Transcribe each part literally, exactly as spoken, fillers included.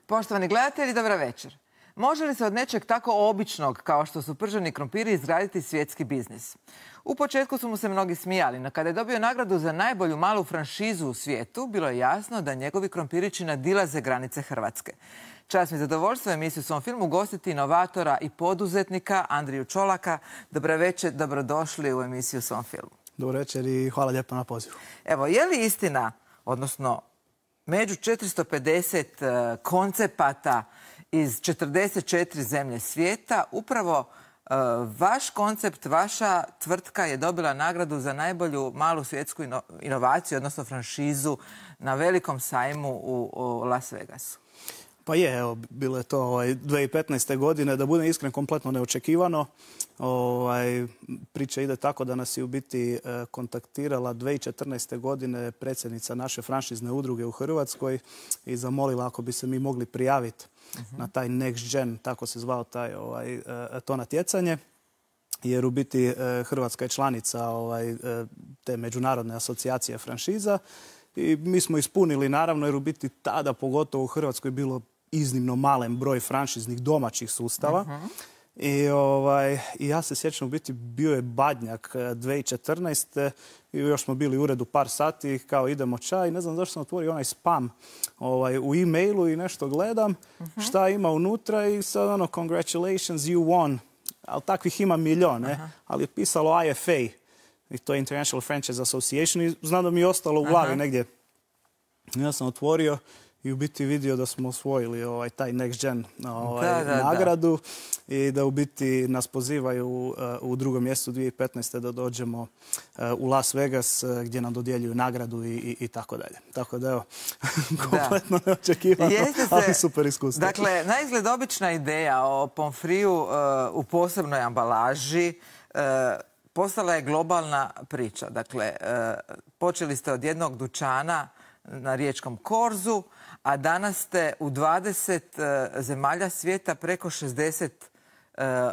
Poštovani gledatelji, dobra večer. Može li se od nečeg tako običnog kao što su prženi krompiri izgraditi svjetski biznis? U početku su mu se mnogi smijali, no kada je dobio nagradu za najbolju malu franšizu u svijetu, bilo je jasno da njegovi krompirići nadilaze granice Hrvatske. Čast mi zadovoljstvo emisiju u svom filmu ugostiti inovatora i poduzetnika Andriju Čolaka. Dobra večer, dobrodošli u emisiju u svom filmu. Dobro večer i hvala lijepo na pozivu. Evo, je li istina, odnosno među četiristo pedeset koncepata iz četrdeset četiri zemlje svijeta, upravo uh, vaš koncept, vaša tvrtka je dobila nagradu za najbolju malu svjetsku ino inovaciju, odnosno franšizu na velikom sajmu u, u Las Vegasu? Pa je, evo, bilo je to ovaj, dvije tisuće petnaeste. godine, da budem iskren, kompletno neočekivano. Ovaj, priča ide tako da nas je u biti eh, kontaktirala dvije tisuće četrnaeste. godine predsjednica naše franšizne udruge u Hrvatskoj i zamolila ako bi se mi mogli prijaviti uh-huh. na taj Next Gen, tako se zvao taj, ovaj, eh, to natjecanje. Jer u biti eh, Hrvatska je članica ovaj, eh, te međunarodne asocijacije franšiza. I mi smo ispunili, naravno, jer u biti tada, pogotovo u Hrvatskoj, bilo iznimno malen broj franšiznih domaćih sustava. Uh-huh. I, ovaj, I ja se sjećam, u biti bio je Badnjak dvije tisuće četrnaeste. I još smo bili u uredu par sati, kao idemo čaj. Ne znam zašto sam otvorio onaj spam ovaj, u e-mailu i nešto gledam uh-huh. šta ima unutra i sad ono, congratulations, you won. Ali takvih ima milion, ne? Uh-huh. Ali je pisalo I F A. I to je International Franchise Association i znam da mi je ostalo u glavi Aha. negdje. Ja sam otvorio i u biti vidio da smo osvojili ovaj, taj Next Gen ovaj, da, da, nagradu da. I da u biti nas pozivaju uh, u drugom mjestu dvije tisuće petnaeste. da dođemo uh, u Las Vegas uh, gdje nam dodjeljuju nagradu i, i, i tako dalje. Tako da evo, kompletno neočekivano, ali super iskustvo. Dakle, naizgled obična ideja o pomfriju uh, u posebnoj ambalaži uh, postala je globalna priča. Dakle, počeli ste od jednog dućana na riječkom korzu, a danas ste u dvadeset zemalja svijeta, preko šezdeset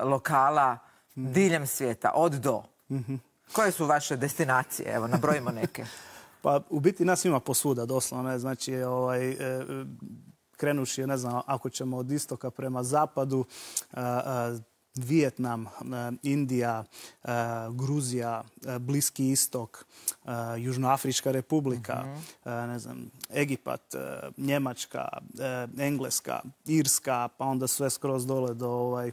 lokala diljem svijeta, od do. Mm-hmm. Koje su vaše destinacije? Evo, nabrojimo neke. Pa, u biti nas ima posvuda, doslovno. Ne? Znači, ovaj, e, krenuši, ne znam, ako ćemo od istoka prema zapadu, a, a, Vijetnam, Indija, Gruzija, Bliski istok, Južnoafrička republika, uh-huh. ne znam, Egipat, Njemačka, Engleska, Irska, pa onda sve skroz dole do ovaj,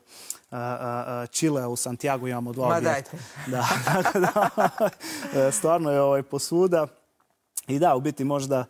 Čilea, u Santiago imamo dva objekta. Da, da, stvarno je ovaj posvuda. I da, u biti možda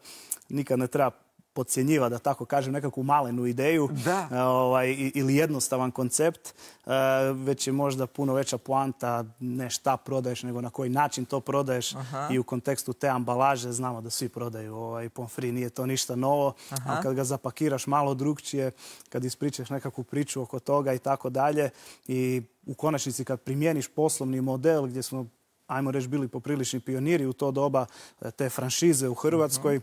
nikad ne treba podcjenjiva, da tako kažem, nekakvu malenu ideju ovaj, ili jednostavan koncept, uh, već je možda puno veća poanta ne šta prodaješ, nego na koji način to prodaješ. Aha. I u kontekstu te ambalaže znamo da svi prodaju ovaj, pomfri, nije to ništa novo, a kad ga zapakiraš malo drugčije, kad ispričaš nekakvu priču oko toga i tako dalje i u konačnici kad primjeniš poslovni model gdje smo, ajmo reći, bili poprilični pioniri u to doba te franšize u Hrvatskoj, uh-huh.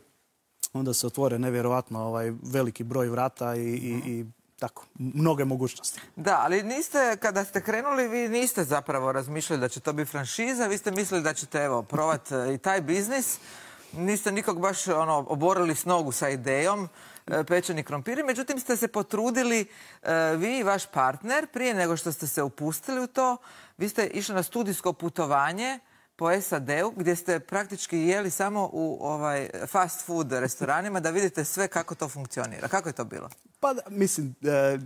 onda se otvore nevjerovatno ovaj, veliki broj vrata i, i, i tako, mnoge mogućnosti. Da, ali niste, kada ste krenuli, vi niste zapravo razmišljali da će to biti franšiza, vi ste mislili da ćete, evo, probati i taj biznis. Niste nikog baš ono, oborili s nogu sa idejom pečeni krompiri, međutim ste se potrudili, vi i vaš partner, prije nego što ste se upustili u to, vi ste išli na studijsko putovanje po S A D-u, gdje ste praktički jeli samo u ovaj, fast food restoranima, da vidite sve kako to funkcionira. Kako je to bilo? Pa, mislim,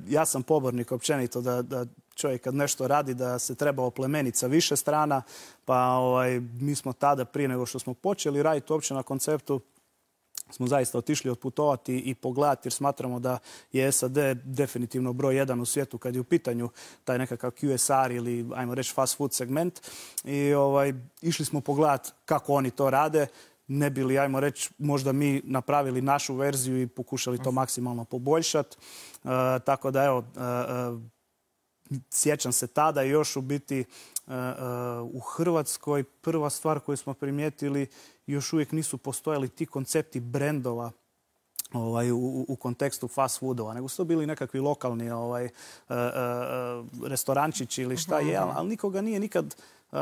ja sam pobornik općenito da, da čovjek kad nešto radi, da se treba oplemeniti sa više strana, pa ovaj, mi smo tada, prije nego što smo počeli raditi uopće na konceptu, smo zaista otišli otputovati i pogledati, jer smatramo da je S A D definitivno broj jedan u svijetu kad je u pitanju taj nekakav Q S R ili, ajmo reći, fast food segment. I ovaj, išli smo pogledati kako oni to rade, ne bi li, ajmo reći, možda mi napravili našu verziju i pokušali to maksimalno poboljšati. Uh, tako da, evo, uh, uh, sjećam se tada još u biti uh, uh, u Hrvatskoj prva stvar koju smo primijetili, još uvijek nisu postojali ti koncepti brendova ovaj, u, u kontekstu fast foodova, nego su to bili nekakvi lokalni ovaj, uh, uh, restorančići ili šta je, ali nikoga nije nikad uh,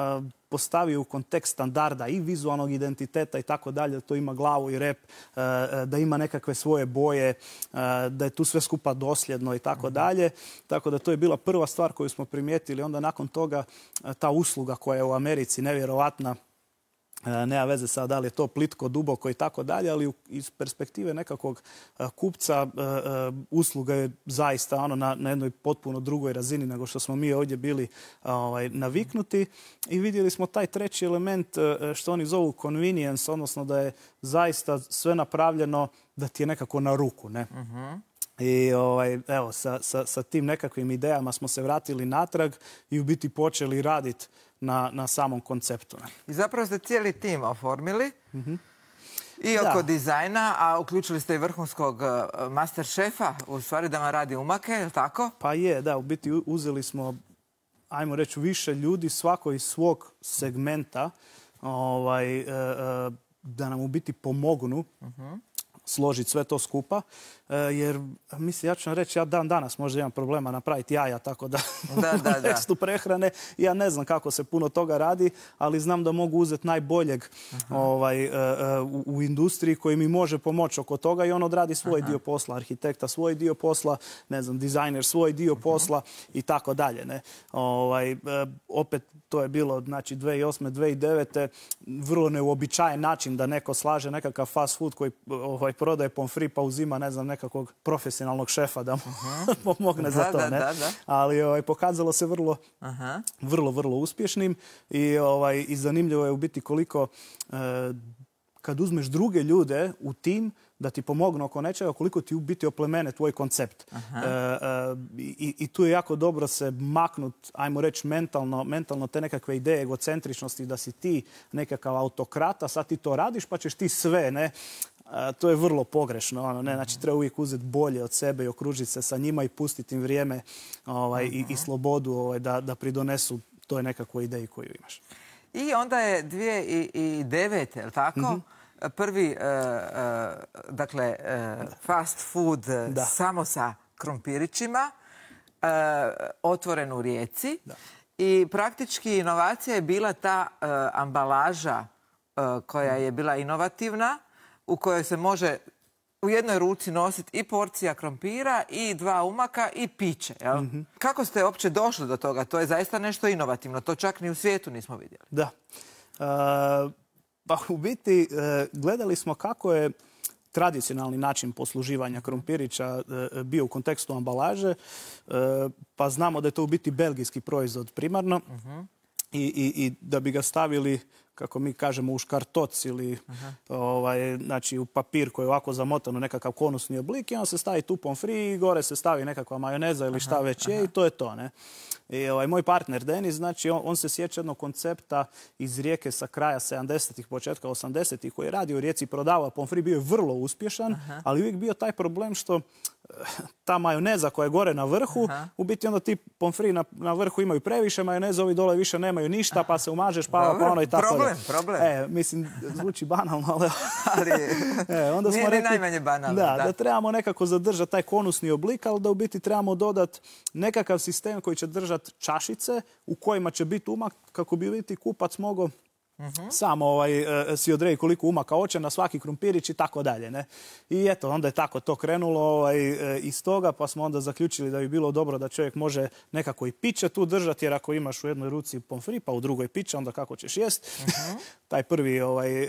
postavio u kontekst standarda i vizualnog identiteta i tako dalje, da to ima glavu i rep, uh, da ima nekakve svoje boje, uh, da je tu sve skupa dosljedno i tako dalje. Tako da to je bila prva stvar koju smo primijetili. Onda nakon toga uh, ta usluga koja je u Americi nevjerovatna, nema veze sad da li je to plitko, duboko i tako dalje, ali iz perspektive nekakvog kupca usluga je zaista ono na, na jednoj potpuno drugoj razini nego što smo mi ovdje bili ovaj, naviknuti. I vidjeli smo taj treći element što oni zovu convenience, odnosno da je zaista sve napravljeno da ti je nekako na ruku, ne? Uh-huh. I ovaj, evo, sa, sa, sa tim nekakvim idejama smo se vratili natrag i u biti počeli raditi na, na samom konceptu. I zapravo ste cijeli tim oformili mm-hmm. i oko da. dizajna, a uključili ste i vrhunskog master šefa, u stvari da vam radi umake, je li tako? Pa je, da, u biti uzeli smo, ajmo reći, više ljudi, svako iz svog segmenta, ovaj, da nam u biti pomognu mm-hmm. složiti sve to skupa, jer mislim, ja ću vam reći, ja dan danas možda imam problema napraviti jaja, tako da, da, da, u tekstu prehrane ja ne znam kako se puno toga radi, ali znam da mogu uzeti najboljeg ovaj, u, u industriji koji mi može pomoći oko toga i on odradi svoj Aha. dio posla, arhitekta svoj dio posla, ne znam, dizajner svoj dio posla i tako dalje. Ne? Ovaj, opet to je bilo, znači, dvije tisuće osme. dvije tisuće devete. vrlo neuobičajen način da neko slaže nekakav fast food koji ovaj, prodaje pomfri pa uzima, ne znam, nekakvog profesionalnog šefa da mu uh-huh. pomogne da, za to. Da, ne? da, da. Ali ovaj, pokazalo se vrlo, uh-huh. vrlo, vrlo uspješnim i, ovaj, i zanimljivo je u biti koliko eh, kad uzmeš druge ljude u tim da ti pomognu oko nečega, koliko ti u biti oplemene tvoj koncept. Uh-huh. E, e, i, I tu je jako dobro se maknut, ajmo reći, mentalno, mentalno te nekakve ideje egocentričnosti, da si ti nekakav autokrat, a sad ti to radiš pa ćeš ti sve, ne? E, to je vrlo pogrešno. Ono, ne? Znači, treba uvijek uzeti bolje od sebe i okružiti se sa njima i pustiti im vrijeme ovaj, uh-huh. i, i slobodu ovaj, da, da pridonesu toj nekakvoj ideji koju imaš. I onda je dvije tisuće devete. je li tako? Mm-hmm. Prvi, uh, uh, dakle, uh, fast food da. samo sa krompirićima, uh, otvoren u Rijeci. Da. I praktički inovacija je bila ta uh, ambalaža uh, koja je bila inovativna, u kojoj se može u jednoj ruci nositi i porcija krompira, i dva umaka, i piće. Jel? Mm-hmm. Kako ste uopće došli do toga? To je zaista nešto inovativno. To čak ni u svijetu nismo vidjeli. Da. Uh... Pa u biti gledali smo kako je tradicionalni način posluživanja krompirića bio u kontekstu ambalaže, pa znamo da je to u biti belgijski proizvod primarno uh-huh. i, i, i da bi ga stavili, kako mi kažemo, u škartoc ili uh-huh. ovaj, znači, u papir koji je ovako zamotan u nekakav konusni oblik i on se stavi tu pomfri i gore se stavi nekakva majoneza ili šta već je uh-huh. i to je to. Ne? I ovaj, moj partner Denis, znači, on, on se sjeća jednog koncepta iz Rijeke sa kraja sedamdesetih, početka osamdesetih, koji je radio u Rijeci i prodavao pomfri, bio je vrlo uspješan, Aha. ali uvijek bio taj problem što ta majoneza koja je gore na vrhu, Aha. u biti onda ti pomfri na, na vrhu imaju previše majoneza, ovi dole više nemaju ništa, pa se umažeš, pa, pa ono i tako. Problem, da. problem. E, mislim, zvuči banalno, ali... ali e, onda nije smo rekli, najmanje banalno. Da, da, da trebamo nekako zadržati taj konusni oblik, ali da u biti trebamo dodati nekakav sistem koji će držati čašice u kojima će biti umak kako bi biti kupac mogao uh-huh. samo ovaj, si odredi koliko umaka hoće na svaki krumpirić i tako dalje. Ne? I eto, onda je tako to krenulo ovaj, iz toga, pa smo onda zaključili da bi bilo dobro da čovjek može nekako i piće tu držati, jer ako imaš u jednoj ruci pomfri, pa u drugoj piće, onda kako ćeš jest. Uh-huh. Taj prvi ovaj,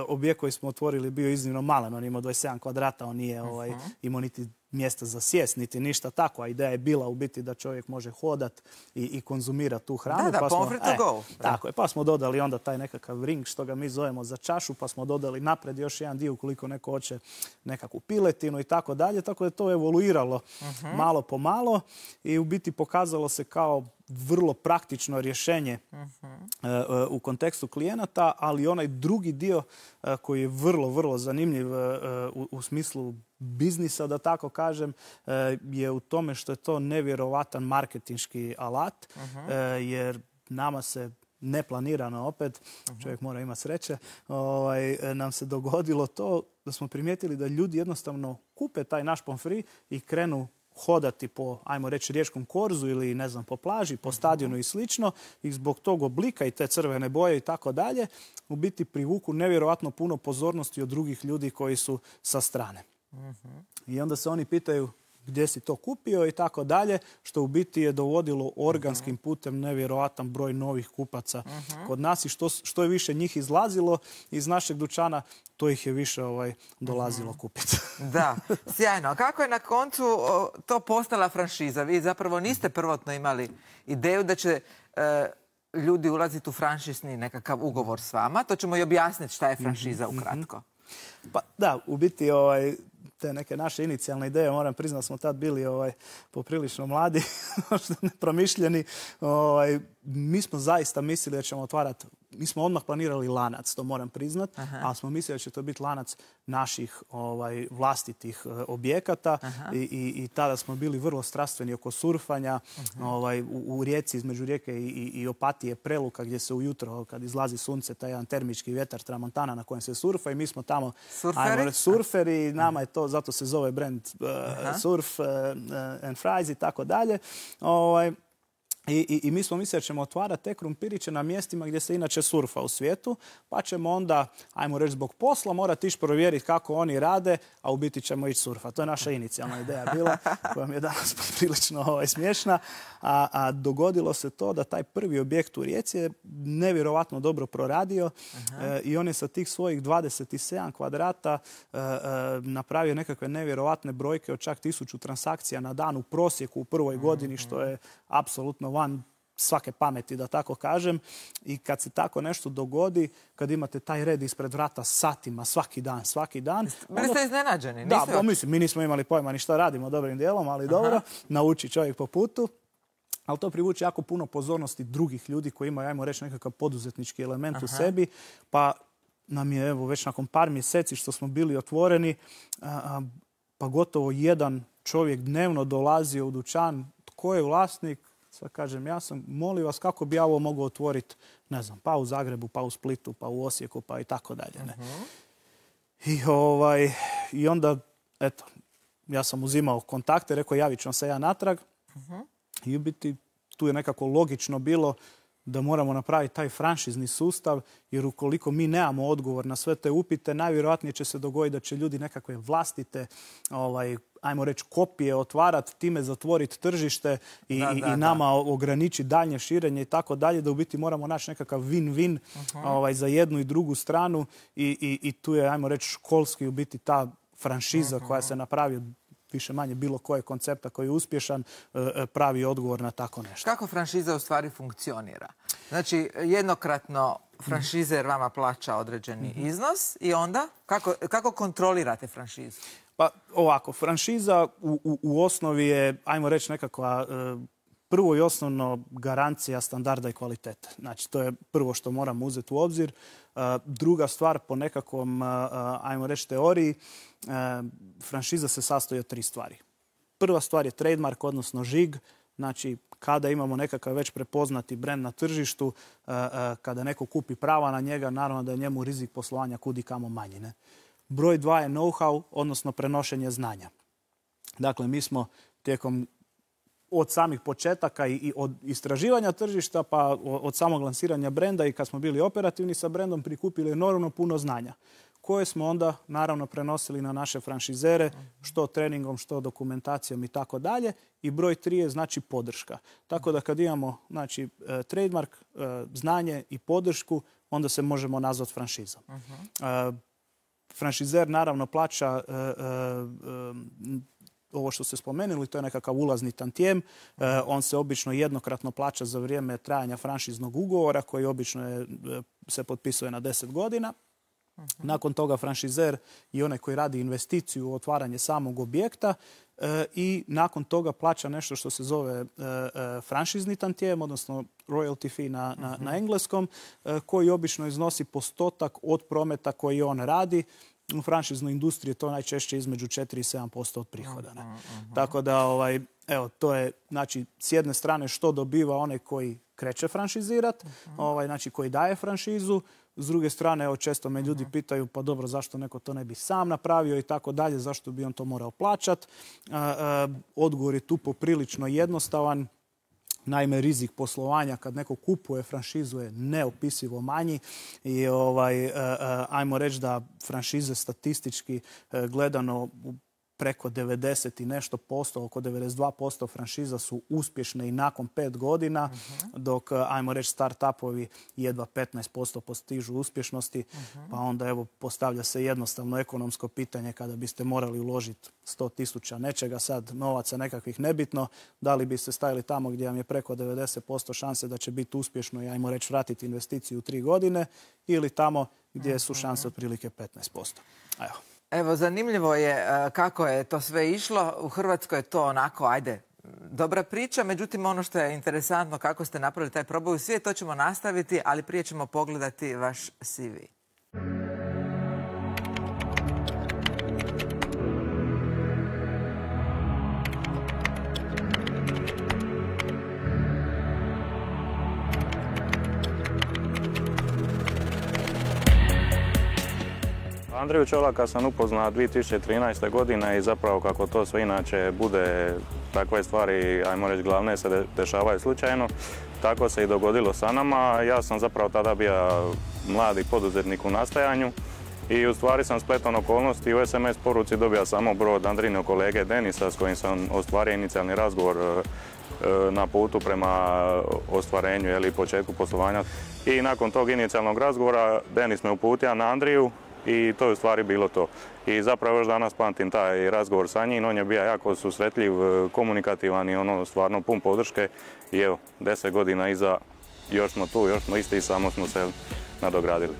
objekt koji smo otvorili bio iznimno malen, on imao dvadeset sedam kvadrata, on nije ovaj, uh-huh. imao niti mjesta za sjest, niti ništa tako. A ideja je bila u biti da čovjek može hodat i, i konzumirati tu hranu. Da, da, pa smo, pomfri to go. E, tako je, pa smo dodali onda taj nekakav ring, što ga mi zovemo za čašu, pa smo dodali napred još jedan dio ukoliko neko hoće nekakvu piletinu i tako dalje. Tako da je to evoluiralo uh-huh. malo po malo i u biti pokazalo se kao vrlo praktično rješenje uh-huh. uh, u kontekstu klijenata, ali onaj drugi dio uh, koji je vrlo, vrlo zanimljiv uh, u, u smislu biznisa, da tako kažem, uh, je u tome što je to nevjerovatan marketinški alat, uh-huh. uh, jer nama se neplanirano opet, čovjek mora imati sreće, ovaj, nam se dogodilo to da smo primijetili da ljudi jednostavno kupe taj naš pomfri i krenu hodati po, ajmo reći, riječkom korzu ili ne znam, po plaži, po stadionu i slično, i zbog tog oblika i te crvene boje i tako dalje, u biti privuku nevjerojatno puno pozornosti od drugih ljudi koji su sa strane. I onda se oni pitaju gdje si to kupio i tako dalje, što u biti je dovodilo organskim putem nevjerojatan broj novih kupaca kod nas i što, što je više njih izlazilo iz našeg dućana, to ih je više ovaj, dolazilo kupiti. Da, sjajno. Kako je na koncu o, to postala franšiza? Vi zapravo niste prvotno imali ideju da će e, ljudi ulaziti u franšizni nekakav ugovor s vama. To ćemo i objasniti šta je franšiza ukratko. Pa da, u biti ovaj, te neke naše inicijalne ideje, moram priznati da smo tad bili ovaj, poprilično mladi, možda nepromišljeni. Ovaj, mi smo zaista mislili da ćemo otvarati, mi smo odmah planirali lanac, to moram priznati, ali smo mislili da će to biti lanac naših ovaj, vlastitih uh, objekata i, i, i tada smo bili vrlo strastveni oko surfanja ovaj, u, u rijeci, između rijeke i, i, i Opatije, Preluka, gdje se ujutro kad izlazi sunce, taj jedan termički vjetar Tramontana na kojem se surfa i mi smo tamo surferi, ajmo, surferi nama je to, zato se zove brand uh, Surf uh, and Fries i tako dalje. Ovaj, I, i, I mi smo mislili da ćemo otvarati te krumpiriće na mjestima gdje se inače surfa u svijetu, pa ćemo onda, ajmo reći zbog posla, morati ići provjeriti kako oni rade, a u biti ćemo ići surfati. To je naša inicijalna ideja bila, koja mi je danas prilično ovaj, smiješna. A, a dogodilo se to da taj prvi objekt u Rijeci je nevjerovatno dobro proradio e, i on je sa tih svojih dvadeset sedam kvadrata e, e, napravio nekakve nevjerovatne brojke od čak tisuću transakcija na dan u prosjeku u prvoj godini, što je apsolutno van svake pameti, da tako kažem. I kad se tako nešto dogodi, kad imate taj red ispred vrata satima, svaki dan, svaki dan... Bili ste iznenađeni? Da, pa, mislim, mi nismo imali pojma ni šta radimo dobrim dijelom, ali dobro, nauči čovjek po putu. Ali to privuče jako puno pozornosti drugih ljudi koji imaju, ajmo reći, nekakav poduzetnički element Aha. u sebi. Pa nam je, evo, već nakon par mjeseci što smo bili otvoreni, a, pa gotovo jedan čovjek dnevno dolazio u dućan. Tko je vlasnik? Sad kažem, ja sam, molim vas, kako bi ja ovo mogao otvoriti, ne znam, pa u Zagrebu, pa u Splitu, pa u Osijeku, pa i tako dalje. Ne? Uh-huh. I, ovaj, I onda, eto, ja sam uzimao kontakte, rekao, javit ću vam se ja natrag. Uh-huh. I u biti tu je nekako logično bilo da moramo napraviti taj franšizni sustav, jer ukoliko mi nemamo odgovor na sve te upite, najvjerojatnije će se dogoditi da će ljudi nekakve vlastite, ovaj, ajmo reći, kopije otvarati, time zatvoriti tržište i, da, da, i nama da. ograničiti daljnje širenje i tako dalje, da u biti moramo naći nekakav win-win uh-huh. ovaj, za jednu i drugu stranu i, i, i tu je, ajmo reći, školski u biti ta franšiza uh-huh. koja se napravi više manje bilo koje koncepta koji je uspješan, pravi odgovor na tako nešto. Kako franšiza u stvari funkcionira? Znači, jednokratno franšizer vama plaća određeni mm-hmm. iznos i onda kako, kako kontrolirate franšizu? Pa ovako, franšiza u, u, u osnovi je, ajmo reći, nekakva prvo i osnovno garancija standarda i kvalitete. Znači, to je prvo što moramo uzeti u obzir. Druga stvar, po nekakvom, ajmo reći, teoriji, franšiza se sastoji od tri stvari. Prva stvar je trademark, odnosno žig. Znači, kada imamo nekakav već prepoznati brend na tržištu, kada neko kupi prava na njega, naravno da je njemu rizik poslovanja kudi kamo manji. Ne? Broj dva je know-how, odnosno prenošenje znanja. Dakle, mi smo tijekom od samih početaka i od istraživanja tržišta pa od samog lansiranja brenda i kad smo bili operativni sa brendom prikupili enormno puno znanja koje smo onda naravno prenosili na naše franšizere, što treningom, što dokumentacijom i tako dalje. I broj tri je znači podrška. Tako da kad imamo znači, trademark, znanje i podršku, onda se možemo nazvati franšizom. Uh-huh. Franšizer naravno plaća uh, uh, ovo što ste spomenuli, to je nekakav ulazni tantijem. Uh, on se obično jednokratno plaća za vrijeme trajanja franšiznog ugovora koji obično je, se potpisuje na deset godina. Uh-huh. Nakon toga franšizer i onaj koji radi investiciju u otvaranje samog objekta uh, i nakon toga plaća nešto što se zove uh, uh, franšizni tantijem, odnosno royalty fee na, na, uh-huh. na engleskom, uh, koji obično iznosi postotak od prometa koji on radi. U franšiznoj industriji je to najčešće između četiri i sedam posto od prihoda. Ne? Uh-huh. Tako da, ovaj, evo, to je, znači, s jedne strane što dobiva onaj koji kreće franšizirat, ovaj, znači koji daje franšizu. S druge strane, evo, često me ljudi pitaju, pa dobro, zašto neko to ne bi sam napravio i tako dalje, zašto bi on to morao plaćat. Odgovor je tu poprilično jednostavan. Naime, rizik poslovanja kad neko kupuje franšizu je neopisivo manji i ovaj, ajmo reći da franšize statistički gledano preko devedeset i nešto posto, oko devedeset dva posto franšiza su uspješne i nakon pet godina, dok, ajmo reći, start-upovi jedva petnaest posto postižu uspješnosti, pa onda evo postavlja se jednostavno ekonomsko pitanje kada biste morali uložiti sto tisuća nečega, sad novaca nekakvih nebitno, da li biste stavili tamo gdje vam je preko devedeset posto šanse da će biti uspješno i, ajmo reći, vratiti investiciju u tri godine ili tamo gdje su šanse otprilike petnaest posto. Evo. Evo, zanimljivo je kako je to sve išlo. U Hrvatskoj je to onako, ajde, dobra priča. Međutim, ono što je interesantno kako ste napravili taj proboj u svijet, to ćemo nastaviti, ali prije ćemo pogledati vaš C V. Andriju Čolaka sam upoznao dvije tisuće trinaeste. godine i zapravo kako to sve inače bude, takve stvari, ajmo reći, glavne se dešavaju slučajno. Tako se i dogodilo sa nama. Ja sam zapravo tada bio mladi poduzetnik u nastajanju i u stvari sam spletom okolnosti u es em es poruci dobio samo broj od Andrinog kolege Denisa s kojim sam ostvario inicijalni razgovor na putu prema ostvarenju ili početku poslovanja. I nakon tog inicijalnog razgovora Denis me uputio na Andriju i to je u stvari bilo to. I zapravo još danas pamtim taj razgovor sa njim. On je bio jako susretljiv, komunikativan i ono stvarno pun podrške. I evo, deset godina iza, još smo tu, još smo isti i samo smo se nadogradili.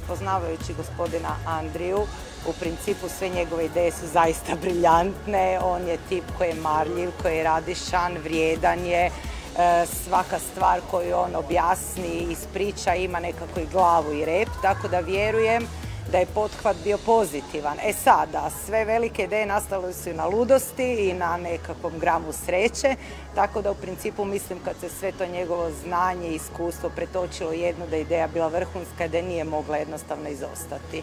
Poznavajući gospodina Andriju, u principu sve njegove ideje su zaista briljantne. On je tip koji je marljiv, koji je radišan, vrijedan je. Svaka stvar koju on objasni, ispriča, ima nekako i glavu i rep, tako da vjerujem da je pothvat bio pozitivan. E sada, sve velike ideje nastale su i na ludosti i na nekakvom gramu sreće, tako da u principu mislim kad se sve to njegovo znanje i iskustvo pretočilo jedno da je ideja bila vrhunska, da nije mogla jednostavno izostati.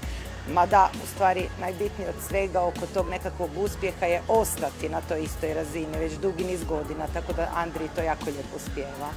Mada, u stvari, najbitnije od svega oko tog nekakvog uspjeha je ostati na toj istoj razini već dugi niz godina, tako da Andrij to jako lijepo uspijeva.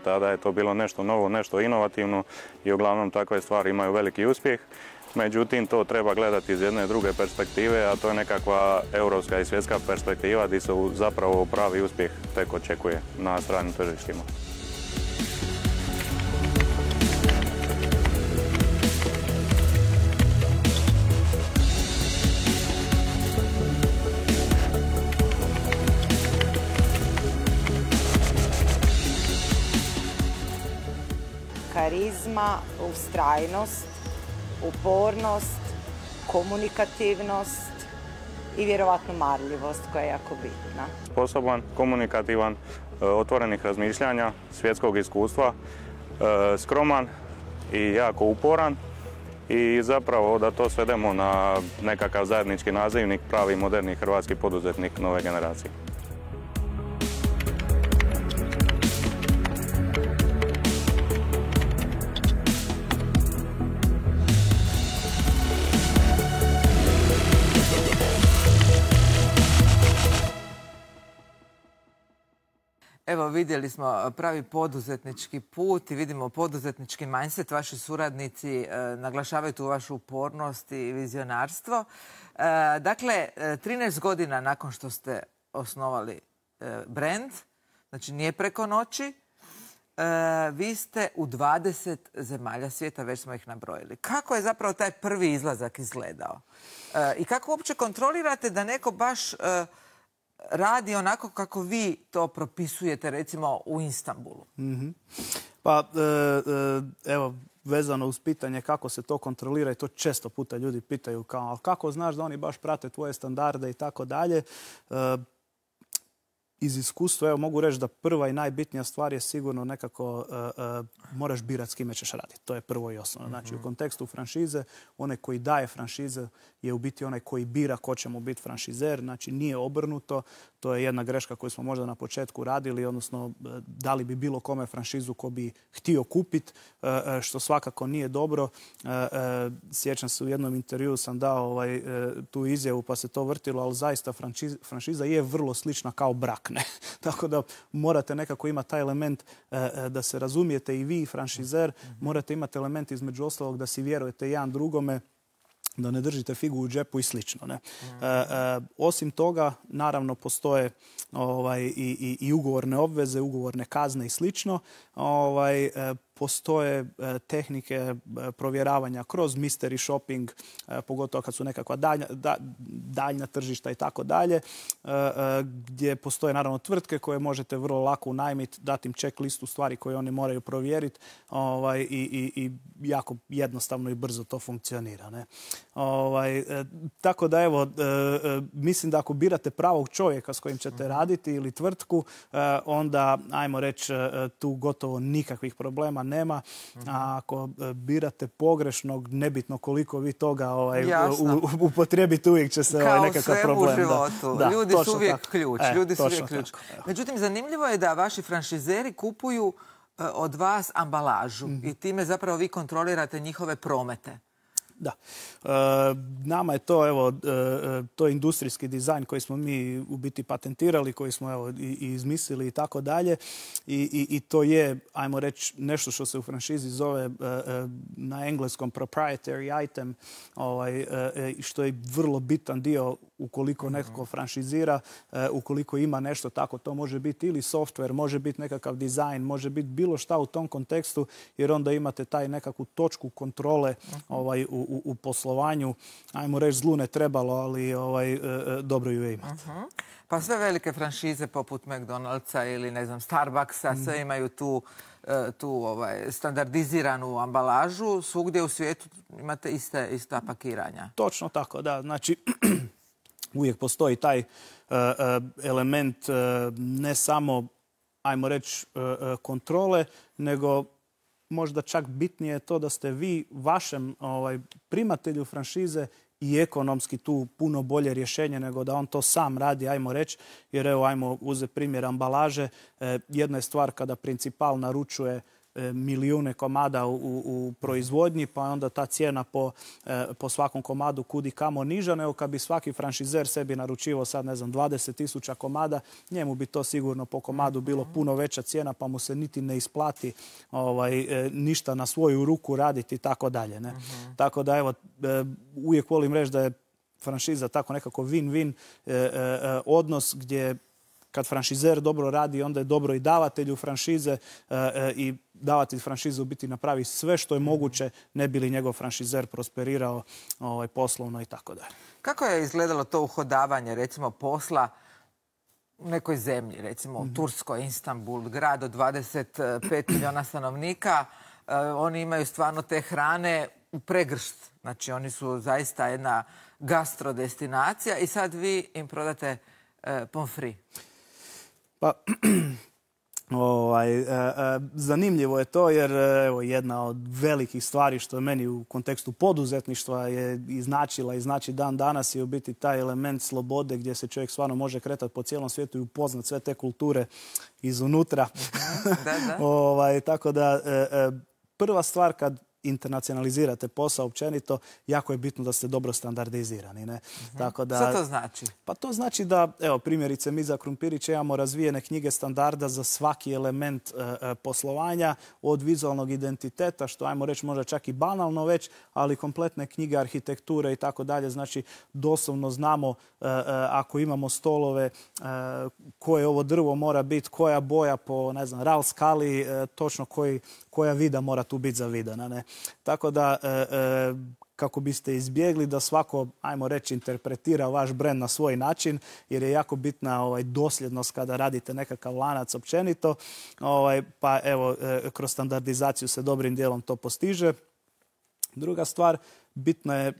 Tada je to bilo nešto novo, nešto inovativno i uglavnom takve stvari imaju veliki uspjeh. Međutim, to treba gledati iz jedne druge perspektive, a to je nekakva europska i svjetska perspektiva gdje se zapravo pravi uspjeh tek očekuje na stranim tržištima. Karizma, ustrajnost, upornost, komunikativnost i vjerovatno marljivost koja je jako bitna. Sposoban, komunikativan, otvorenih razmišljanja, svjetskog iskustva, skroman i jako uporan i zapravo da to svedemo na nekakav zajednički nazivnik, pravi moderni hrvatski poduzetnik nove generacije. Evo, vidjeli smo pravi poduzetnički put i vidimo poduzetnički mindset. Vaši suradnici e, naglašavaju tu vašu upornost i vizionarstvo. E, dakle, trinaest godina nakon što ste osnovali e, brand, znači nije preko noći, vi ste u dvadeset zemalja svijeta, već smo ih nabrojili. Kako je zapravo taj prvi izlazak izgledao? I kako uopće kontrolirate da neko baš radi onako kako vi to propisujete, recimo, u Istanbulu? Pa, evo, vezano uz pitanje kako se to kontrolira i to često puta ljudi pitaju kao, ali kako znaš da oni baš prate tvoje standarde i tako dalje. Iz iskustva, evo, mogu reći da prva i najbitnija stvar je sigurno nekako uh, uh, moraš birati s kime ćeš raditi. To je prvo i osnovno. Znači, u kontekstu franšize, onaj koji daje franšize je u biti onaj koji bira ko će mu biti franšizer. Znači, nije obrnuto. To je jedna greška koju smo možda na početku radili, odnosno dali bi bilo kome franšizu ko bi htio kupiti, uh, što svakako nije dobro. Uh, uh, sjećam se, u jednom intervjuu sam dao ovaj, uh, tu izjavu pa se to vrtilo, ali zaista franšiza, franšiza je vrlo slična kao brak. Ne. Tako da morate nekako imati taj element e, da se razumijete i vi i franšizer. Morate imati element između ostalog da si vjerujete jedan drugome, da ne držite figu u džepu i slično. Ne. E, e, osim toga, naravno, postoje ovaj, i, i, i ugovorne obveze, ugovorne kazne i slično. Ovaj, e, postoje e, tehnike e, provjeravanja kroz mystery shopping, e, pogotovo kad su nekakva daljna, da, daljna tržišta i tako dalje, e, e, gdje postoje naravno tvrtke koje možete vrlo lako unajmiti, dati im check listu stvari koje oni moraju provjeriti, ovaj, i, i, i jako jednostavno i brzo to funkcionira. Ne? Ovaj, e, tako da, evo, e, e, mislim da ako birate pravog čovjeka s kojim ćete raditi ili tvrtku, e, onda, ajmo reći, e, tu gotovo nikakvih problema nema. A ako birate pogrešnog, nebitno koliko vi toga ovaj, upotrijebite, uvijek će se ovaj, nekakav problem. Kao sve u životu. Da, ljudi su uvijek tako. ključ. E, ljudi su uvijek ključ. Međutim, zanimljivo je da vaši franšizeri kupuju uh, od vas ambalažu mm-hmm. i time zapravo vi kontrolirate njihove promete. Da. E, nama je to, evo, e, to je industrijski dizajn koji smo mi u biti patentirali, koji smo, evo, i, i izmislili i tako dalje. I, i, i to je, ajmo reći, nešto što se u franšizi zove e, na engleskom proprietary item, ovaj, e, što je vrlo bitan dio ukoliko neko franšizira, e, ukoliko ima nešto tako. To može biti ili software, može biti nekakav dizajn, može biti bilo šta u tom kontekstu, jer onda imate taj nekakvu točku kontrole ovaj, u U, u poslovanju. Ajmo reći, zlu ne trebalo, ali ovaj, e, dobro ju je imati. Uh-huh. Pa sve velike franšize poput McDonald'sa ili, ne znam, Starbucksa, mm. sve imaju tu, tu ovaj, standardiziranu ambalažu. Svugdje u svijetu imate iste, ista pakiranja. Točno tako, da. Znači, uvijek postoji taj uh, element uh, ne samo, ajmo reći, uh, kontrole, nego možda čak bitnije je to da ste vi vašem ovaj, primatelju franšize i ekonomski tu puno bolje rješenje nego da on to sam radi, ajmo reći. Jer evo, ajmo uzeti primjer ambalaže. E, jedna je stvar kada principal naručuje e, milijune komada u, u proizvodnji, pa onda ta cijena po, e, po svakom komadu kudi kamo niža, nego kad bi svaki franšizer sebi naručivao sad, ne znam, dvadeset tisuća komada, njemu bi to sigurno po komadu bilo puno veća cijena, pa mu se niti ne isplati ovaj, e, ništa na svoju ruku raditi i tako dalje. Ne? Uh-huh. Tako da, evo, e, uvijek volim reći da je franšiza tako nekako win-win e, e, odnos gdje kad franšizer dobro radi, onda je dobro i davatelju franšize e, e, i davatelj franšize u biti napravi sve što je moguće, ne bi li njegov franšizer prosperirao ovaj, poslovno i tako dalje. Kako je izgledalo to uhodavanje, recimo, posla u nekoj zemlji, recimo u Turskoj, Istanbul, grad od dvadeset pet milijuna stanovnika? E, oni imaju stvarno te hrane u pregršt. Znači, oni su zaista jedna gastrodestinacija i sad vi im prodate e, pomfri. Pa, ovaj, e, e, zanimljivo je to jer evo, jedna od velikih stvari što je meni u kontekstu poduzetništva je i značila i znači dan danas je u biti taj element slobode gdje se čovjek stvarno može kretati po cijelom svijetu i upoznat sve te kulture izunutra. Da, da. ovaj, tako da, e, e, prva stvar kad internacionalizirate posao općenito, jako je bitno da ste dobro standardizirani. Ne? Uh-huh. Tako da, šta to znači? Pa to znači da, evo, primjerice, mi za Krumpirića imamo razvijene knjige standarda za svaki element e, poslovanja, od vizualnog identiteta, što ajmo reći možda čak i banalno već, ali kompletne knjige arhitekture i tako dalje. Znači, doslovno znamo e, e, ako imamo stolove, e, koje ovo drvo mora biti, koja boja po, ne znam, ral skali, e, točno koji, koja vida mora tu biti zavidana. Ne? Tako da, e, e, kako biste izbjegli da svako, ajmo reći, interpretira vaš brend na svoj način, jer je jako bitna ovaj, dosljednost kada radite nekakav lanac općenito. Ovaj, pa evo, e, kroz standardizaciju se dobrim dijelom to postiže. Druga stvar, bitna je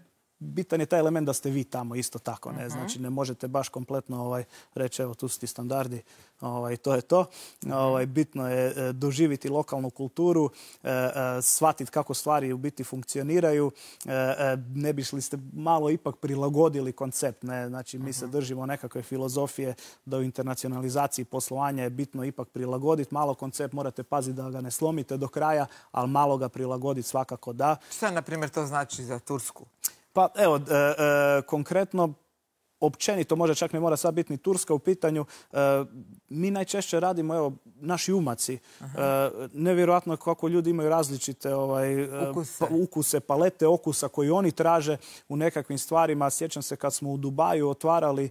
bitan je taj element da ste vi tamo isto tako. Ne? Znači, ne možete baš kompletno ovaj, reći, evo, tu su ti standardi, ovaj, to je to. Ovaj, bitno je e, doživjeti lokalnu kulturu, e, e, shvatiti kako stvari u biti funkcioniraju. E, e, ne bi li ste malo ipak prilagodili koncept. Ne? Znači, mi se držimo nekakve filozofije da u internacionalizaciji poslovanja je bitno ipak prilagoditi. Malo koncept, morate paziti da ga ne slomite do kraja, ali malo ga prilagoditi svakako da. Šta, na primjer, to znači za Tursku? Pa evo, e, e, konkretno, općenito, možda čak ne mora sad biti ni Turska u pitanju, e, mi najčešće radimo, evo, naši umaci. E, nevjerojatno kako ljudi imaju različite ovaj, ukuse. Pa, ukuse, palete okusa koji oni traže u nekakvim stvarima. Sjećam se kad smo u Dubaju otvarali e,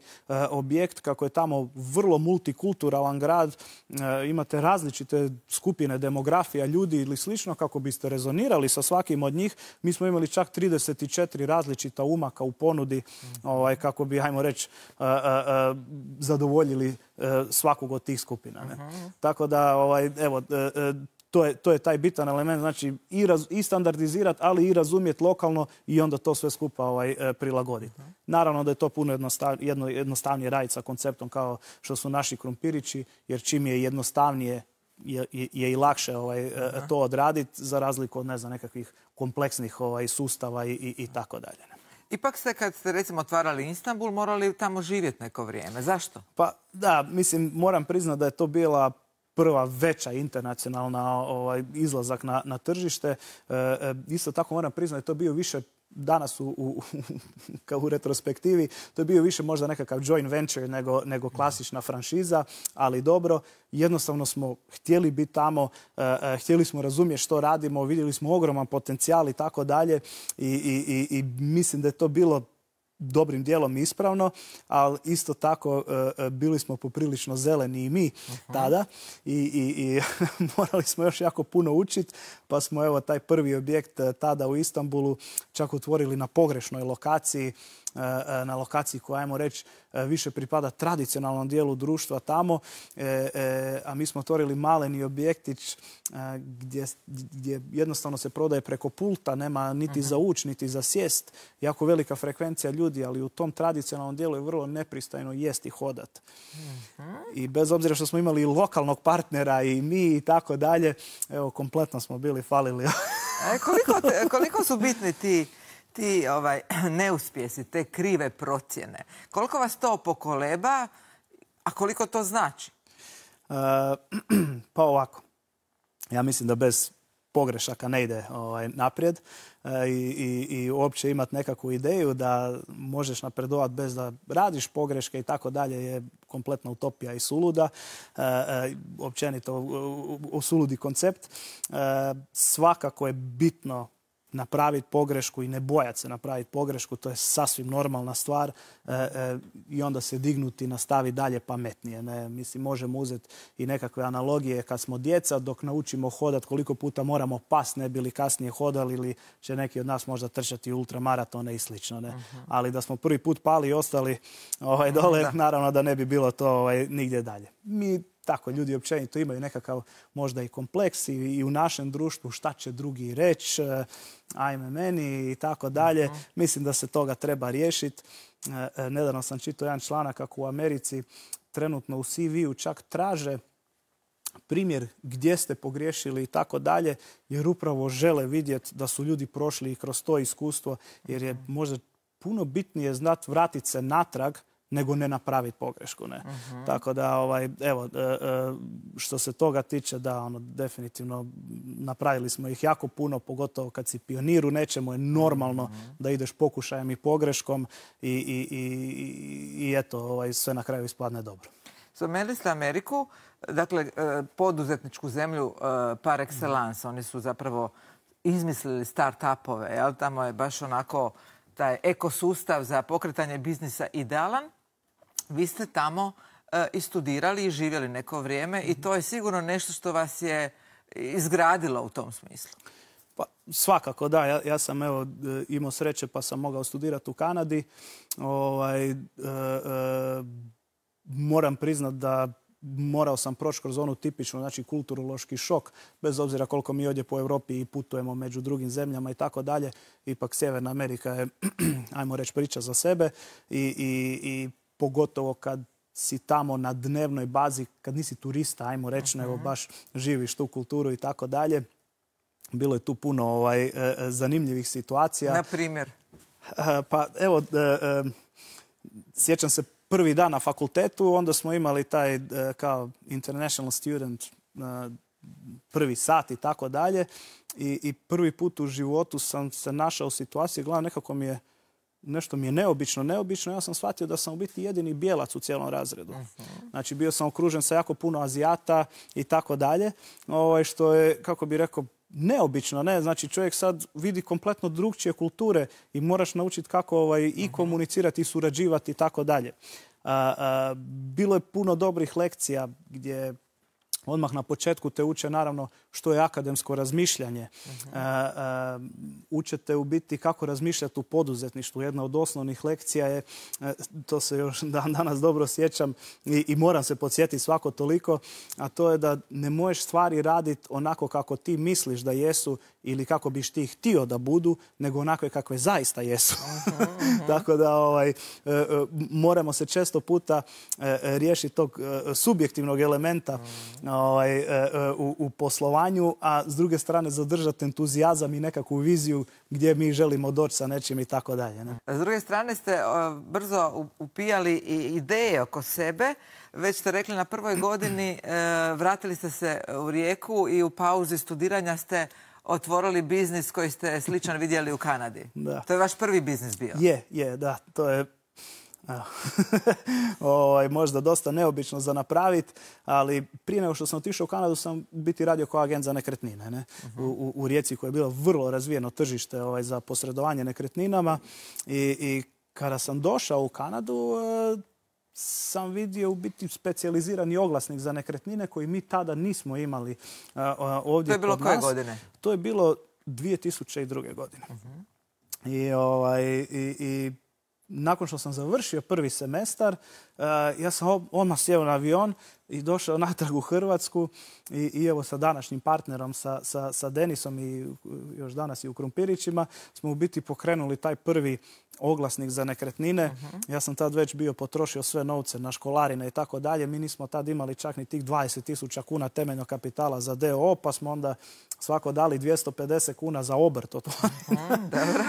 objekt, kako je tamo vrlo multikulturalan grad, e, imate različite skupine demografija ljudi ili slično, kako biste rezonirali sa svakim od njih. Mi smo imali čak trideset četiri različita umaka u ponudi, ovaj, kako bi, hajmo reći, uh, uh, uh, zadovoljili uh, svakog od tih skupina. Ne? Uh-huh. Tako da, ovaj, evo, uh, uh, to, je, to je taj bitan element, znači i, raz, i standardizirati, ali i razumjeti lokalno i onda to sve skupa ovaj, uh, prilagoditi. Uh-huh. Naravno da je to puno jednostav, jedno, jednostavnije raditi sa konceptom kao što su naši krumpirići, jer čim je jednostavnije je, je, je i lakše ovaj, uh, to odraditi, za razliku od, ne znam, nekakvih kompleksnih ovaj, sustava i, i, i tako dalje. Ipak ste, kad ste recimo otvarali Istanbul, morali tamo živjeti neko vrijeme. Zašto? Pa da, mislim, moram priznati da je to bila prva veća internacionalna ovaj, izlazak na, na tržište. E, e, isto tako moram priznati da je to bio više danas u, u, kao u retrospektivi, to je bio više možda nekakav joint venture nego, nego klasična franšiza, ali dobro, jednostavno smo htjeli biti tamo, uh, uh, htjeli smo razumjeti što radimo, vidjeli smo ogroman potencijal i tako dalje i, i, i mislim da je to bilo dobrim dijelom ispravno, ali isto tako uh, bili smo poprilično zeleni i mi uh-huh. tada i, i, i morali smo još jako puno učiti, pa smo evo taj prvi objekt uh, tada u Istanbulu čak otvorili na pogrešnoj lokaciji, uh, na lokaciji koja, ajmo reći, uh, više pripada tradicionalnom dijelu društva tamo, uh, uh, a mi smo otvorili maleni objektić uh, gdje, gdje jednostavno se prodaje preko pulta, nema niti uh-huh. za uć, niti za sjest, jako velika frekvencija ljudi, ali u tom tradicionalnom dijelu je vrlo nepristojno jesti i hodat. Uh-huh. I bez obzira što smo imali i lokalnog partnera i mi i tako dalje, evo, kompletno smo bili falili. E, koliko, te, koliko su bitni ti, ti ovaj, neuspjesi, te krive procjene? Koliko vas to pokoleba, a koliko to znači? Uh, pa ovako. Ja mislim da bez pogrešaka ne ide ovaj, naprijed e, i, i, i uopće imati nekakvu ideju da možeš napredovati bez da radiš pogreške i tako dalje je kompletna utopija i suluda. E, e, općenito suludi koncept. E, svakako je bitno napraviti pogrešku i ne bojati se napraviti pogrešku, to je sasvim normalna stvar e, e, i onda se dignuti i nastaviti dalje pametnije. Ne? Mislim, možemo uzeti i nekakve analogije kad smo djeca, dok naučimo hodati koliko puta moramo pas ne bili kasnije hodali ili će neki od nas možda trčati ultramaratone i slično. Ne? Uh-huh. Ali da smo prvi put pali i ostali ovaj, dole, da. Naravno da ne bi bilo to ovaj, nigdje dalje. Mi tako, ljudi općenito imaju nekakav možda i kompleks i, i u našem društvu šta će drugi reći, ajme meni i tako dalje. Uh-huh. Mislim da se toga treba riješiti. E, nedavno sam čitao jedan članak kako u Americi trenutno u C V-u čak traže primjer gdje ste pogriješili i tako dalje, jer upravo žele vidjeti da su ljudi prošli i kroz to iskustvo, jer je možda puno bitnije znati vratiti se natrag nego ne napraviti pogrešku. Ne? Uh-huh. Tako da, ovaj, evo, što se toga tiče, da, ono, definitivno napravili smo ih jako puno, pogotovo kad si pionir u nečemu, je normalno uh-huh. da ideš pokušajem i pogreškom i, i, i, i eto, ovaj, sve na kraju ispadne dobro. Spomenuli ste Ameriku, dakle, poduzetničku zemlju par excellence. Oni su zapravo izmislili start-upove, jel? Tamo je baš onako taj ekosustav za pokretanje biznisa idealan. Vi ste tamo i studirali i živjeli neko vrijeme i to je sigurno nešto što vas je izgradilo u tom smislu. Pa, svakako, da. Ja, ja sam evo, imao sreće pa sam mogao studirati u Kanadi. Ovaj, e, e, moram priznat da morao sam proći kroz onu tipičnu, znači kulturološki šok, bez obzira koliko mi ovdje po Europi i putujemo među drugim zemljama i tako dalje. Ipak Sjeverna Amerika je, ajmo reći, priča za sebe i, i, i pogotovo kad si tamo na dnevnoj bazi, kad nisi turista, ajmo reći, nego baš živiš tu kulturu i tako dalje. Bilo je tu puno ovaj, zanimljivih situacija. Na primjer? Pa evo, sjećam se prvi dan na fakultetu, onda smo imali taj kao international student prvi sat i tako dalje. I, i prvi put u životu sam se našao u situaciji, gledam, nekako mi je nešto mi je neobično, neobično. Ja sam shvatio da sam u biti jedini bijelac u cijelom razredu. Uh-huh. Znači, bio sam okružen sa jako puno Azijata i tako dalje, ovaj, što je, kako bi rekao, neobično, ne? Znači, čovjek sad vidi kompletno drugčije kulture i moraš naučiti kako ovaj, i komunicirati i surađivati i tako dalje. Bilo je puno dobrih lekcija gdje odmah na početku te uče naravno što je akademsko razmišljanje. Uh-huh. Uh, uh, učete u biti kako razmišljati u poduzetništvu. Jedna od osnovnih lekcija je, uh, to se još dan danas dobro sjećam i, i moram se podsjetiti svako toliko, a to je da ne možeš stvari raditi onako kako ti misliš da jesu ili kako biš ti htio da budu, nego onakve kakve zaista jesu. Uh-huh, uh-huh. Tako da ovaj, uh, uh, moramo se često puta uh, riješiti tog uh, subjektivnog elementa uh-huh. ovaj, uh, u, u poslovanju, a s druge strane zadržati entuzijazam i nekakvu viziju gdje mi želimo doći sa nečim i tako dalje. Ne? S druge strane ste uh, brzo upijali i ideje oko sebe. Već ste rekli na prvoj godini uh, vratili ste se u Rijeku i u pauzi studiranja ste otvorili biznis koji ste sličan vidjeli u Kanadi. Da. To je vaš prvi biznis bio? Je, je, da. To je ovaj, možda dosta neobično za napraviti, ali prije nego što sam otišao u Kanadu sam biti radio kao agent za nekretnine. Ne? Uh-huh. U, u Rijeci koje je bilo vrlo razvijeno tržište ovaj, za posredovanje nekretninama i, i kada sam došao u Kanadu e, sam vidio u biti specijalizirani oglasnik za nekretnine koji mi tada nismo imali uh, ovdje kod nas. To je bilo koje godine? To je bilo dvije tisuće druge. godine. Uh-huh. I, ovaj, i, i nakon što sam završio prvi semestar, uh, ja sam odmah sjeo na avion i došao natrag u Hrvatsku i, i evo sa današnjim partnerom, sa, sa, sa Denisom i još danas i u Krumpirićima, smo u biti pokrenuli taj prvi oglasnik za nekretnine. Uh-huh. Ja sam tad već bio potrošio sve novce na školarine i tako dalje. Mi nismo tad imali čak ni tih dvadeset tisuća kuna temeljnog kapitala za D O O, pa smo onda svako dali dvjesto pedeset kuna za obrt. Uh-huh, dobro.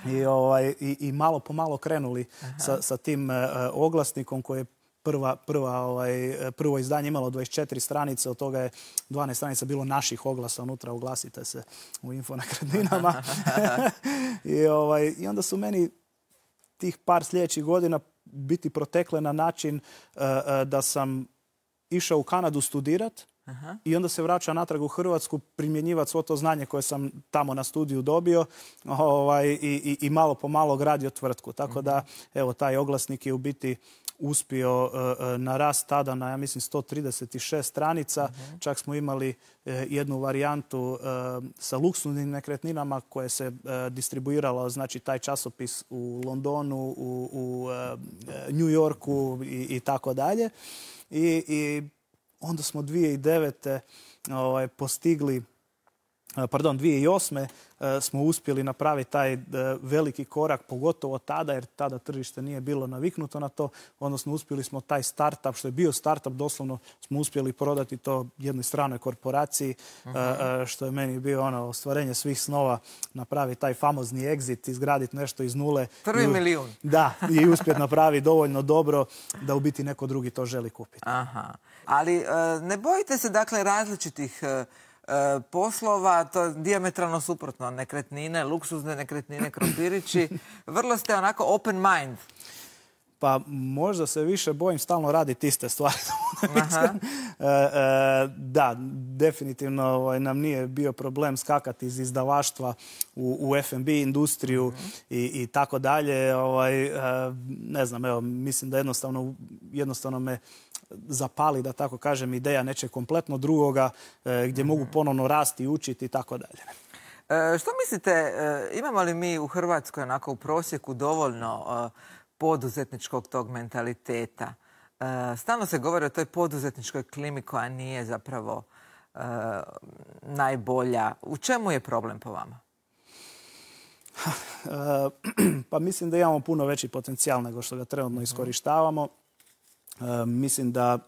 I, ovaj, i, i malo po malo krenuli sa, sa tim uh, oglasnikom koji je prva, prva, ovaj, prvo izdanje imalo dvadeset četiri stranice, od toga je dvanaest stranica bilo naših oglasa unutra, oglasite se u Info nekretninama. I, ovaj, I onda su meni tih par sljedećih godina biti protekle na način uh, uh, da sam išao u Kanadu studirat. Aha. I onda se vraća natrag u Hrvatsku primjenjivati svo to znanje koje sam tamo na studiju dobio ovaj, i, i, i malo po malo gradio tvrtku. Tako da, evo, taj oglasnik je u biti uspio uh, narast tada na, ja mislim, sto trideset šest stranica. Uh-huh. Čak smo imali uh, jednu varijantu uh, sa luksuznim nekretninama koje se uh, distribuiralo, znači taj časopis u Londonu, u, u uh, New Yorku i, i tako dalje. I, i onda smo dvije tisuće devete. Ovaj, postigli pardon, dvije tisuće osme smo uspjeli napraviti taj veliki korak, pogotovo tada, jer tada tržište nije bilo naviknuto na to, odnosno uspjeli smo taj startup, što je bio startup, doslovno smo uspjeli prodati to jednoj stranoj korporaciji, uh-huh. što je meni bio ono ostvarenje svih snova, napraviti taj famozni exit, izgraditi nešto iz nule. Prvi milijun. Da, i uspjeti napraviti dovoljno dobro da u biti neko drugi to želi kupiti. Aha. Ali ne bojite se dakle različitih poslova, to je dijametralno suprotno, nekretnine, luksuzne nekretnine, krompirići. Vrlo ste onako open mind. Pa možda se više bojim stalno raditi iste stvari. Da, definitivno nam nije bio problem skakati iz izdavaštva u F and B industriju i tako dalje. Ne znam, evo, mislim da jednostavno, jednostavno me zapali, da tako kažem, ideja nečeg kompletno drugoga gdje mogu ponovno rasti i učiti i tako dalje. Što mislite, imamo li mi u Hrvatskoj onako u prosjeku dovoljno poduzetničkog tog mentaliteta? Stalno se govori o toj poduzetničkoj klimi koja nije zapravo najbolja. U čemu je problem po vama? Pa mislim da imamo puno veći potencijal nego što ga trenutno iskorištavamo. Mislim da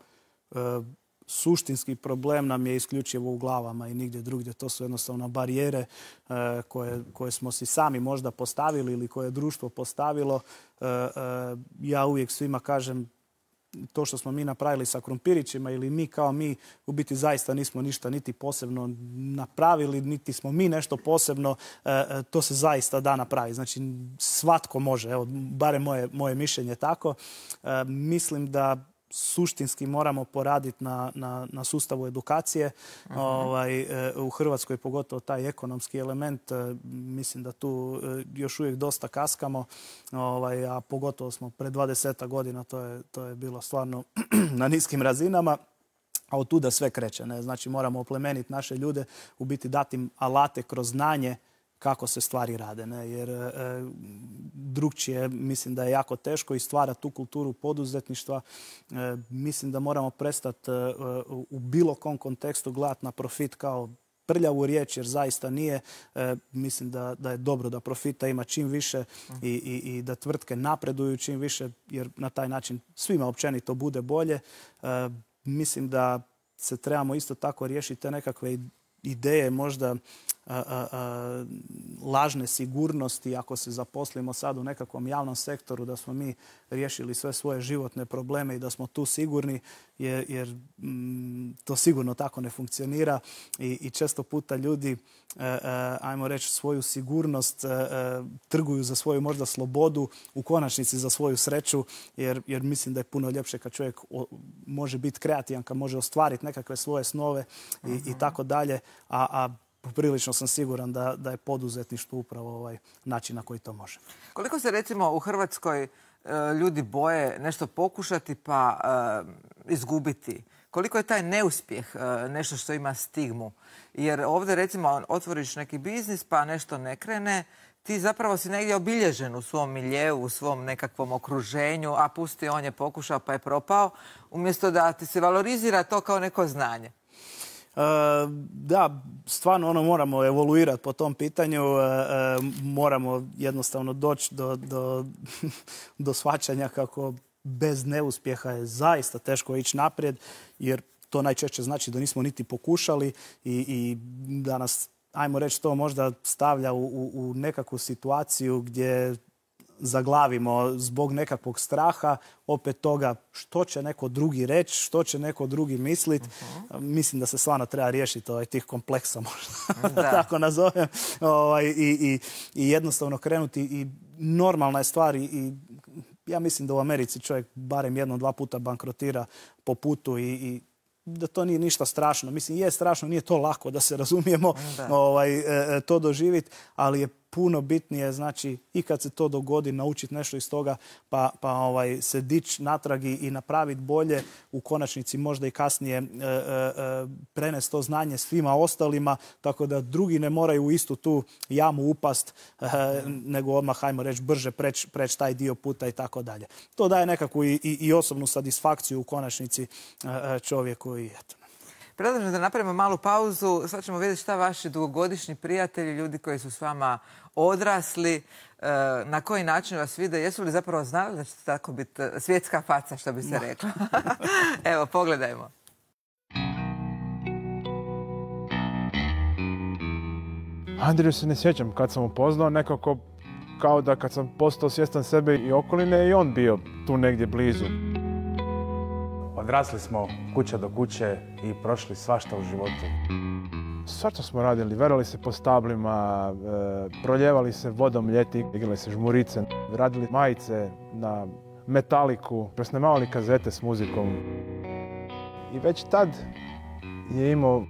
suštinski problem nam je isključivo u glavama i nigdje drugdje. To su jednostavno barijere koje, koje smo si sami možda postavili ili koje je društvo postavilo. Ja uvijek svima kažem, to što smo mi napravili sa krumpirićima ili mi kao mi, u biti zaista nismo ništa niti posebno napravili, niti smo mi nešto posebno, to se zaista da napraviti. Znači, svatko može, evo, barem moje, moje mišljenje tako. Mislim da suštinski moramo poraditi na, na, na sustavu edukacije. Uh-huh. Ovaj, u Hrvatskoj pogotovo taj ekonomski element, mislim da tu još uvijek dosta kaskamo, ovaj, a pogotovo smo pred dvadesetak godina, to je, to je bilo stvarno na niskim razinama. A od tuda sve kreće. Ne? Znači moramo oplemeniti naše ljude, u biti dati im alate kroz znanje kako se stvari rade. Ne? Jer e, drugčije mislim da je jako teško i stvara tu kulturu poduzetništva. E, mislim da moramo prestati e, u bilo kom kontekstu gledati na profit kao prljavu riječ, jer zaista nije. E, mislim da, da je dobro da profita ima čim više i, i, i da tvrtke napreduju čim više, jer na taj način svima općenito bude bolje. E, mislim da se trebamo isto tako riješiti te nekakve ideje, možda a, a, a, lažne sigurnosti, ako se zaposlimo sad u nekakvom javnom sektoru, da smo mi riješili sve svoje životne probleme i da smo tu sigurni, jer, jer m, to sigurno tako ne funkcionira i, i često puta ljudi, a, a, ajmo reći, svoju sigurnost a, a, trguju za svoju možda slobodu, u konačnici za svoju sreću, jer, jer mislim da je puno ljepše kad čovjek o, može biti kreativan, kad može ostvariti nekakve svoje snove i, uh-huh. i tako dalje, a, a poprilično sam siguran da, da je poduzetništvo upravo ovaj način na koji to može. Koliko se recimo u Hrvatskoj ljudi boje nešto pokušati pa uh, izgubiti? Koliko je taj neuspjeh uh, nešto što ima stigmu? Jer ovdje recimo otvoriš neki biznis pa nešto ne krene, ti zapravo si negdje obilježen u svom miljeu, u svom nekakvom okruženju, a pusti, on je pokušao pa je propao, umjesto da ti se valorizira to kao neko znanje. Uh, da, stvarno ono moramo evoluirati po tom pitanju, uh, uh, moramo jednostavno doći do, do, do shvaćanja kako bez neuspjeha je zaista teško ići naprijed, jer to najčešće znači da nismo niti pokušali i, i da nas, ajmo reći, to možda stavlja u, u, u nekakvu situaciju gdje zaglavimo zbog nekakvog straha, opet toga što će neko drugi reći, što će neko drugi misliti. Uh-huh. Mislim da se stvarno treba riješiti ovaj, tih kompleksa, možda da tako nazovem, ovaj, i, i, i jednostavno krenuti. I normalna je stvar i, i ja mislim da u Americi čovjek barem jednom, dva puta bankrotira po putu i, i da to nije ništa strašno. Mislim, je strašno, nije to lako da se razumijemo ovaj, e, to doživjeti, ali je puno bitnije, znači, i kad se to dogodi, naučiti nešto iz toga, pa, pa ovaj, se dići natrag i napraviti bolje, u konačnici možda i kasnije e, e, prenesti to znanje svima ostalima, tako da drugi ne moraju u istu tu jamu upast, e, nego odmah, hajmo reći, brže preći preć taj dio puta i tako dalje. To daje nekakvu i, i, i osobnu satisfakciju u konačnici e, čovjeku i eto. Predlažem da napravimo malu pauzu. Sad ćemo vidjeti šta vaši dugogodišnji prijatelji, ljudi koji su s vama odrasli, na koji način vas vide. Jesu li zapravo znali da ćete tako biti svjetska faca, što bi se reklo? Evo, pogledajmo. Andriju se ne sjećam kad sam upoznao, nekako kao da kad sam postao svjestan sebe i okoline i on bio tu negdje blizu. Odrasli smo kuća do kuće i prošli svašta u životu. Svašta smo radili, verali se po stablima, e, proljevali se vodom ljeti, igrali se žmurice, radili majice na metaliku, presnimavali kazete s muzikom. I već tad je imao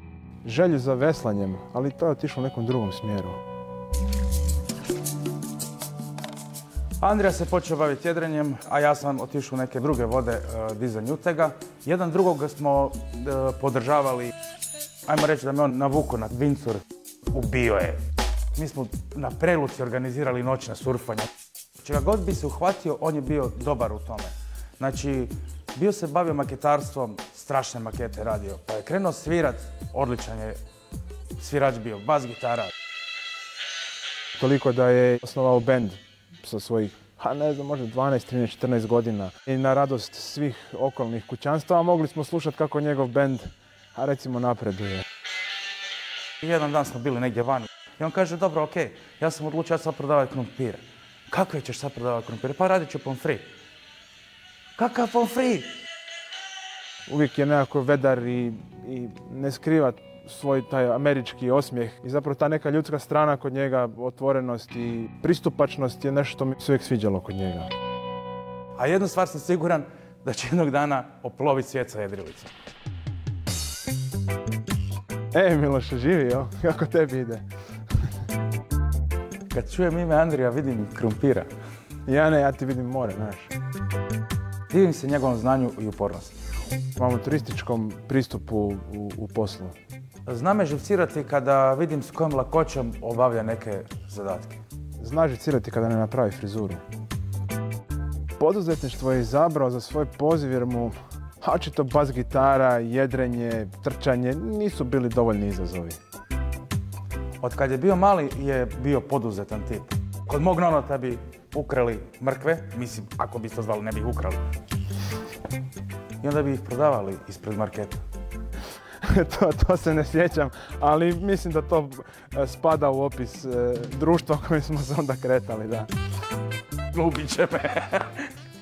želju za veslanjem, ali to je otišlo u nekom drugom smjeru. Andrija se počeo baviti jedrenjem, a ja sam otišao u neke druge vode uh, dizanj utega. Jedan drugog smo uh, podržavali. Ajmo reći da me on navuko na windsurf. Ubio je. Mi smo na Preluci organizirali noćna surfanja. Čega god bi se uhvatio, on je bio dobar u tome. Znači, bio se bavio maketarstvom, strašne makete radio. Pa je krenuo svirat, odličan je svirač bio, bas gitara. Toliko da je osnovao bend sa svojih, ha ne znam, možda dvanaest, trinaest, četrnaest godina. I na radost svih okolnih kućanstava mogli smo slušati kako njegov bend, a recimo, napreduje. I jedan dan smo bili negdje vani. I on kaže, dobro, okej, okay, ja sam odlučio sad prodavati krumpire. Kakve ćeš sad prodavati krumpire? Pa radit ću pomfrit. Kakav pomfrit? Uvijek je nekako vedar i, i ne skriva svoj taj američki osmijeh. I zapravo ta neka ljudska strana kod njega, otvorenost i pristupačnost je nešto što mi se uvijek sviđalo kod njega. A jednu stvar sam siguran, da će jednog dana oploviti svijet sa jedrilicom. E, Miloše, živio, kako tebi ide? Kad čujem ime Andrija, vidim krumpira. Ja ne, ja ti vidim more, znaš. Divim se njegovom znanju i upornosti. Imamo turističkom pristupu u, u poslu. Zna me živcirati kada vidim s kojom lakoćom obavlja neke zadatke. Zna živcirati kada ne napravi frizuru. Poduzetništvo je izabrao za svoj poziv jer mu očito bas gitara, jedrenje, trčanje nisu bili dovoljni izazovi. Od kad je bio mali je bio poduzetan tip. Kod mog nonota bi ukrali mrkve, mislim, ako bi to zvali, ne bi ih ukrali. I onda bi ih prodavali ispred marketa. to, to se ne sjećam, ali mislim da to spada u opis e, društva kojim smo se onda kretali, da. Ubit će me.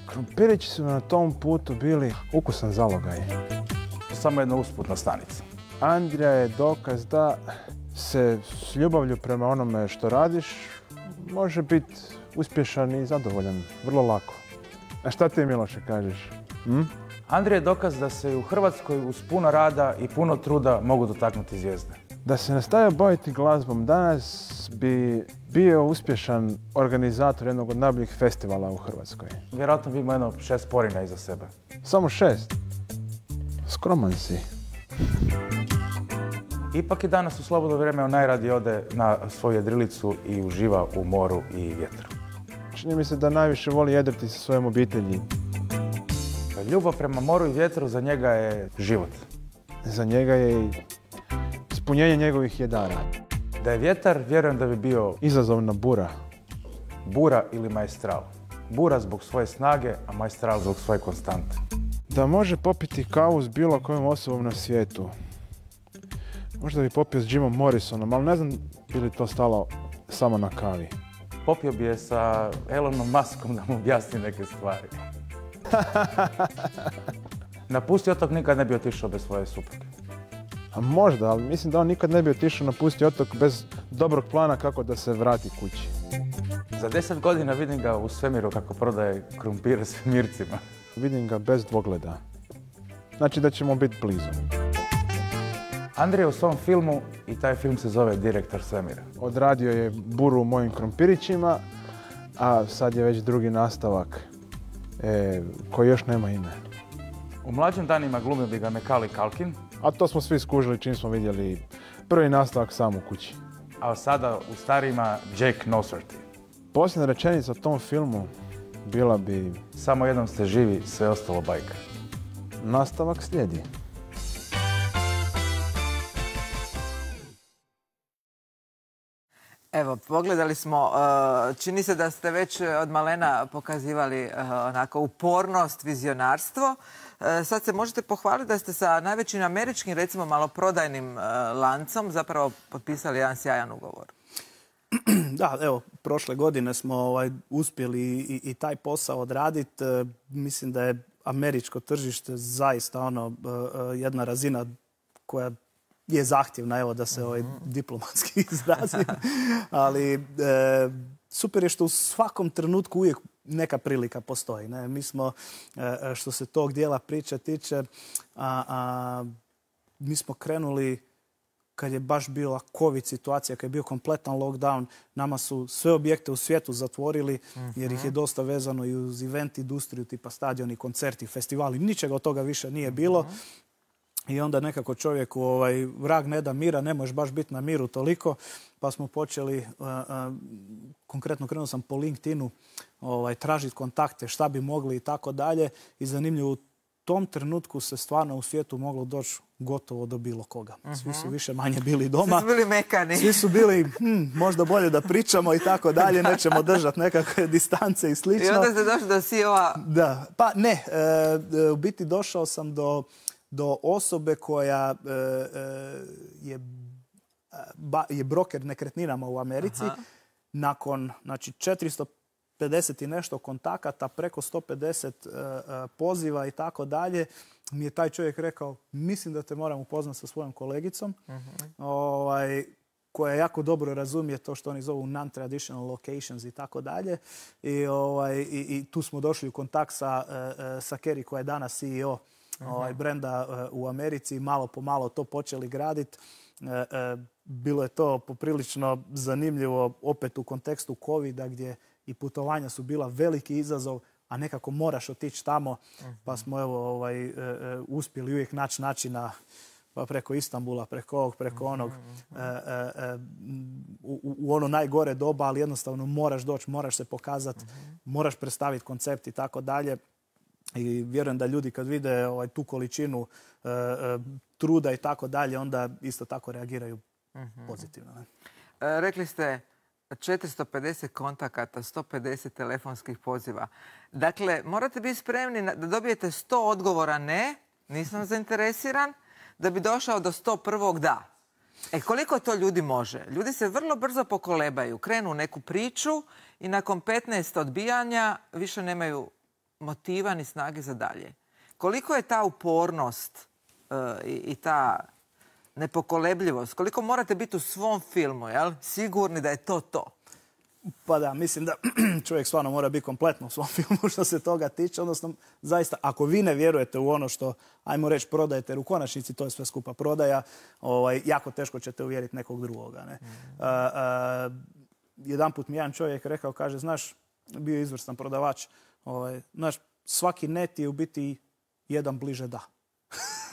Krumpirići su na tom putu bili ukusan zalogaj. Samo jedna usputna stanica. Andrija je dokaz da se s ljubavlju prema onome što radiš može biti uspješan i zadovoljan, vrlo lako. A šta ti, Miloše, kažeš? Hm? Andrija je dokaz da se u Hrvatskoj uz puno rada i puno truda mogu dotaknuti zvijezde. Da se nastavio baviti glazbom danas bi bio uspješan organizator jednog od najboljih festivala u Hrvatskoj. Vjerojatno bi imao jedno šest porina iza sebe. Samo šest? Skroman si. Ipak je danas u slobodno vrijeme on najradije ode na svoju jedrilicu i uživa u moru i vjetru. Čini mi se da najviše voli jedriti sa svojom obitelji. Ljubav prema moru i vjetru za njega je život. Za njega je i ispunjenje njegovih jedara. Da je vjetar, vjerujem da bi bio izazovna bura. Bura ili maestral. Bura zbog svoje snage, a maestral zbog svoje konstante. Da može popiti kavu s bilo kojom osobom na svijetu. Možda bi popio s Jimom Morrisonom, ali ne znam bi li to stalo samo na kavi. Popio bi je sa Elonom Muskom da mu objasni neke stvari. Napusti otok nikad ne bi otišao bez svoje supruge. A možda, ali mislim da on nikad ne bi otišao napusti otok bez dobrog plana kako da se vrati kući. Za deset godina vidim ga u svemiru kako prodaje krumpire svemircima. Vidim ga bez dvogleda. Znači da ćemo biti blizu. Andrija je u svom filmu i taj film se zove Direktor svemira. Odradio je buru u mojim krompirićima, a sad je već drugi nastavak e, koji još nema ime. U mlađim danima glumio bi ga Macaulay Culkin. A to smo svi skužili čim smo vidjeli prvi nastavak sam u kući. A sada u starijima Jake Nosworthy. Posljedna rečenica o tom filmu bila bi: samo jednom ste živi, sve ostalo bajka. Nastavak slijedi. Evo, pogledali smo, čini se da ste već od malena pokazivali onako upornost, vizionarstvo. Sad se možete pohvaliti da ste sa najvećim američkim, recimo maloprodajnim lancom zapravo potpisali jedan sjajan ugovor. Da, evo, prošle godine smo ovaj, uspjeli i, i taj posao odraditi. E, mislim da je američko tržište zaista ono, e, jedna razina koja je zahtjevna, evo da se ovaj, diplomatski izrazim. Ali e, super je što u svakom trenutku uvijek neka prilika postoji. Ne? Mi smo, e, što se tog dijela priče tiče, a, a, mi smo krenuli kad je baš bila COVID situacija, kad je bio kompletan lockdown, nama su sve objekte u svijetu zatvorili, jer ih je dosta vezano i uz event industriju, tipa stadioni, koncerti, festivali. Ničega od toga više nije bilo. I onda nekako čovjeku ovaj, vrag ne da mira, ne možeš baš biti na miru toliko. Pa smo počeli, uh, uh, konkretno krenuo sam po LinkedInu, ovaj, tražiti kontakte, šta bi mogli i tako dalje. I zanimljivo, u tom trenutku se stvarno u svijetu moglo doći gotovo do bilo koga. Svi su više manje bili doma. Svi su bili mekani. Svi su bili, hm, možda bolje da pričamo i tako dalje, nećemo držati nekakve distance i slično. I onda ste došli do C E O-a. Da, pa ne, e, u biti došao sam do, do osobe koja e, je, ba, je broker nekretninama u Americi. Aha. Nakon znači, četiristo pedeset i nešto kontakata, preko sto pedeset uh, poziva i tako dalje, mi je taj čovjek rekao, mislim da te moram upoznati sa svojom kolegicom, uh-huh. ovaj, koja jako dobro razumije to što oni zovu non-traditional locations i tako dalje. I, ovaj, i, i tu smo došli u kontakt sa, uh, sa Kerry, koja je danas C E O uh-huh. ovaj, brenda uh, u Americi i malo po malo to počeli graditi. Uh, uh, bilo je to poprilično zanimljivo opet u kontekstu covida gdje i putovanja su bila veliki izazov, a nekako moraš otići tamo, pa smo evo, ovaj, e, e, uspjeli uvijek naći načina, pa preko Istanbula, preko ovog, preko onog, e, e, u, u ono najgore doba, ali jednostavno moraš doći, moraš se pokazati, moraš predstaviti koncept i tako dalje. I vjerujem da ljudi kad vide ovaj, tu količinu e, e, truda i tako dalje, onda isto tako reagiraju pozitivno. Ne? E, rekli ste četiristo pedeset kontakata, sto pedeset telefonskih poziva. Dakle, morate biti spremni da dobijete sto odgovora ne, nisam zainteresiran, da bi došao do sto prvog da. E, koliko to ljudi može? Ljudi se vrlo brzo pokolebaju, krenu u neku priču i nakon petnaest odbijanja više nemaju motiva ni snage za dalje. Koliko je ta upornost uh, i, i ta nepokolebljivost, koliko morate biti u svom filmu, jel? Sigurni da je to to? Pa da, mislim da čovjek stvarno mora biti kompletno u svom filmu što se toga tiče. Odnosno, zaista, ako vi ne vjerujete u ono što, ajmo reći, prodajete, jer u konačnici to je sve skupa prodaja, ovaj, jako teško ćete uvjeriti nekog drugoga. Ne? Mm-hmm. Uh, uh, jedan put mi jedan čovjek rekao, kaže, znaš, bio je izvrstan prodavač, ovaj, znaš, svaki net je u biti jedan bliže da.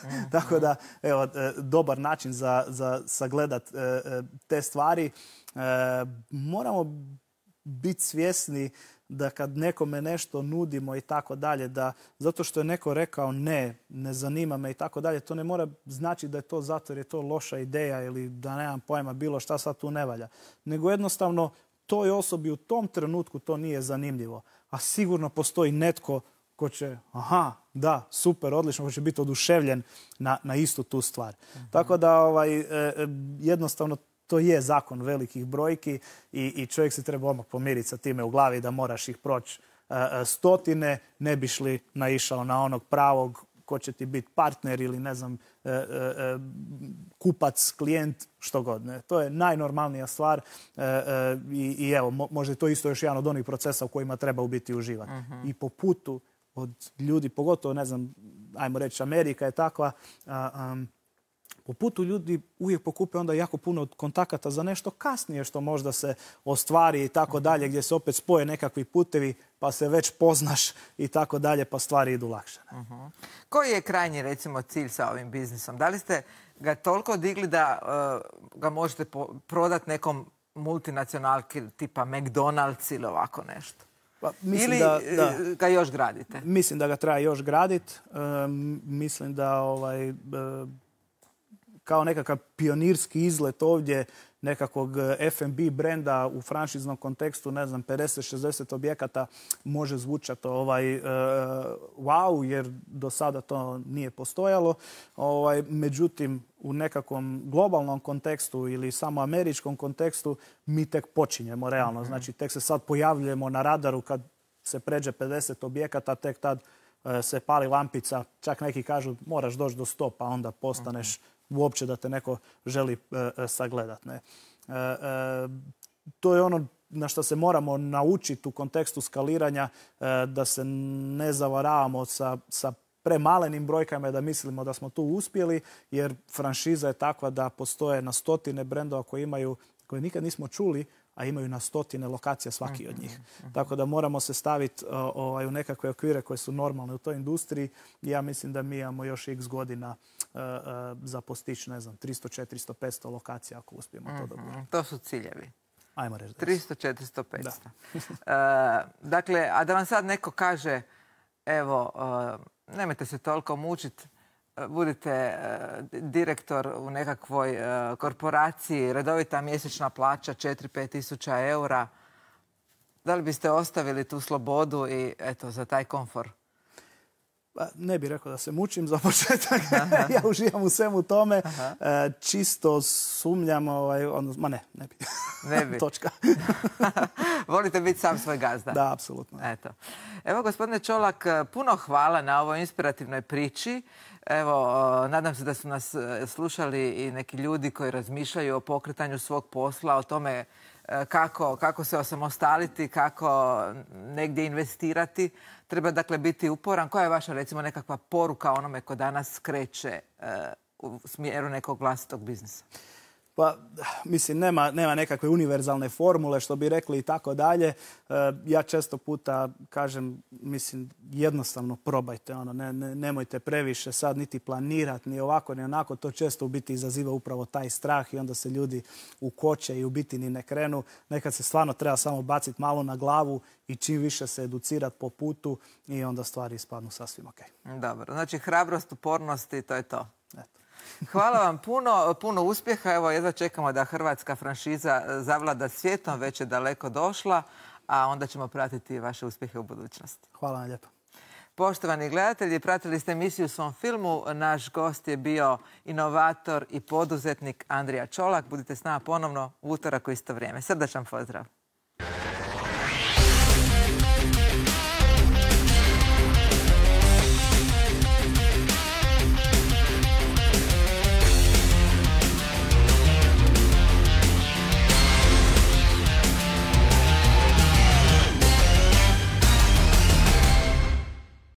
Mm-hmm. Tako da, evo, dobar način za, za sagledat te stvari. Moramo biti svjesni da kad nekome nešto nudimo i tako dalje, da zato što je neko rekao ne, ne zanima me i tako dalje, to ne mora znači da je to zato jer je to loša ideja ili da nemam pojma bilo šta sad tu ne valja. Nego jednostavno toj osobi u tom trenutku to nije zanimljivo. A sigurno postoji netko ko će, aha, da, super, odlično, ko će biti oduševljen na, na istu tu stvar. Uh-huh. Tako da ovaj, e, jednostavno to je zakon velikih brojki i, i čovjek se treba odmah pomiriti sa time u glavi da moraš ih proći e, stotine, ne biš li naišao na onog pravog ko će ti biti partner ili ne znam, e, e, kupac, klijent, što god. Ne. To je najnormalnija stvar e, e, i, i evo, mo, možda je to isto još jedan od onih procesa u kojima treba u biti uživati. Uh-huh. I po putu od ljudi, pogotovo, ne znam, ajmo reći, Amerika je takva, a, um, po putu ljudi uvijek pokupe onda jako puno kontakata za nešto kasnije što možda se ostvari i tako dalje, gdje se opet spoje nekakvi putevi pa se već poznaš i tako dalje, pa stvari idu lakše. Uh-huh. Koji je krajnji, recimo, cilj sa ovim biznisom? Da li ste ga toliko digli da uh, ga možete prodati nekom multinacionalki tipa McDonald's ili ovako nešto? Pa, mislim ili da, da, ga još gradite? Mislim da ga treba još graditi. Um, mislim da ovaj, uh, kao nekakav pionirski izlet ovdje nekakvog F and B brenda u franšiznom kontekstu, ne znam, pedeset šezdeset objekata može zvučati ovaj, uh, wow, jer do sada to nije postojalo. Ovaj, međutim, u nekakvom globalnom kontekstu ili samo američkom kontekstu mi tek počinjemo realno. Mm-hmm. Znači, tek se sad pojavljujemo na radaru kad se pređe pedeset objekata, tek tad uh, se pali lampica. Čak neki kažu moraš doći do sto, pa onda postaneš mm-hmm. uopće da te neko želi uh, sagledat. Ne? Uh, uh, to je ono na što se moramo naučiti u kontekstu skaliranja, uh, da se ne zavaravamo sa, sa premalenim brojkama, da mislimo da smo tu uspjeli, jer franšiza je takva da postoje na stotine brendova koji imaju, koje nikad nismo čuli, a imaju na stotine lokacija svaki od njih. Mm-hmm. Tako da moramo se staviti uh, ovaj, u nekakve okvire koje su normalne u toj industriji. Ja mislim da mi imamo još x godina uh, uh, za postići, ne znam, tristo, četiristo, petsto lokacija ako uspijemo mm-hmm. to dobiti. To su ciljevi. Ajmo reći. tristo, četiristo, petsto. uh, dakle, a da vam sad neko kaže, evo, uh, nemojte se toliko mučiti, budite uh, direktor u nekakvoj uh, korporaciji, redovita mjesečna plaća četiri do pet tisuća eura. Da li biste ostavili tu slobodu i eto, za taj komfor? Pa, ne bih rekao da se mučim za početak. Ja uživam u svemu tome. Aha. Čisto sumnjam, ovaj, odnos, ma ne, ne bi. Ne bi. Točka. Volite biti sam svoj gazda. Da, apsolutno. Eto. Evo, gospodine Čolak, puno hvala na ovoj inspirativnoj priči. Evo, nadam se da su nas slušali i neki ljudi koji razmišljaju o pokretanju svog posla, o tome kako, kako se osamostaliti, kako negdje investirati. Treba dakle biti uporan. Koja je vaša, recimo, nekakva poruka onome ko danas kreće u smjeru nekog vlastitog biznisa? Pa, mislim, nema, nema nekakve univerzalne formule, što bi rekli i tako dalje. Ja često puta kažem, mislim, jednostavno probajte. Ono, ne, ne, nemojte previše sad niti planirati, ni ovako, ni onako. To često u biti izaziva upravo taj strah i onda se ljudi ukoče i u biti ni ne krenu. Nekad se stvarno treba samo baciti malo na glavu i čim više se educirati po putu i onda stvari ispadnu sasvim ok. Dobro, znači hrabrost, upornost i to je to. Eto. Hvala vam puno, puno uspjeha. Evo, jedva čekamo da hrvatska franšiza zavlada svijetom, već je daleko došla, a onda ćemo pratiti vaše uspjehe u budućnosti. Hvala vam lijepo. Poštovani gledatelji, pratili ste emisiju Svom filmu. Naš gost je bio inovator i poduzetnik Andrija Čolak. Budite s nama ponovno u utorak u isto vrijeme. Srdačan pozdrav.